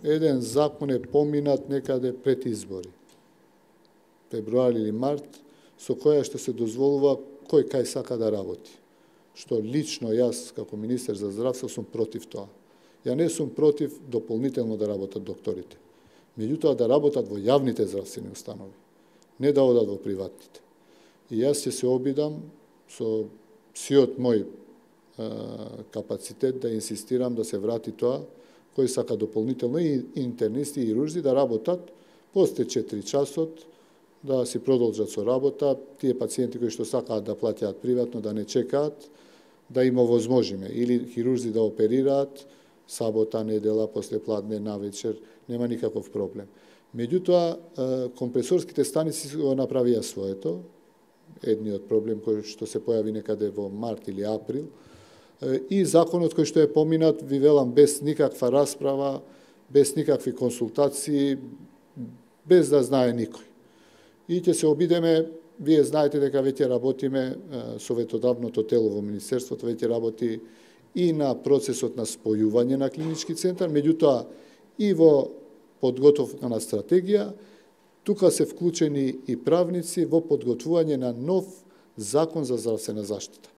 Еден закон е поминат некаде пред избори, февруари или март, со која што се дозволува кој кај сака да работи. Што лично јас, како министер за здравство, сум против тоа. Ја не сум против дополнително да работат докторите. Меѓутоа да работат во јавните здравствени установи, не да одат во приватните. И јас ќе се обидам со сиот мој капацитет да инсистирам да се врати тоа, кој сака дополнително и интернисти и хирурзи да работат после 4 часот, да си продолжат со работа, тие пациенти кои што сакаат да платјаат приватно, да не чекаат, да им овозможиме, или хирурзи да оперираат сабота, недела, после пладне, навечер, нема никаков проблем. Меѓутоа, компресорските станици го направија своето, едниот проблем кој што се појави некаде во март или април, и законот кој што е поминат, ви велам, без никаква расправа, без никакви консултации, без да знае никој. И ќе се обидеме, вие знаете дека веќе работиме, советодавното тело во Министерството веќе работи и на процесот на спојување на клинички центар, меѓутоа и во подготовка на стратегија, тука се вклучени и правници во подготвување на нов закон за здравствена заштита.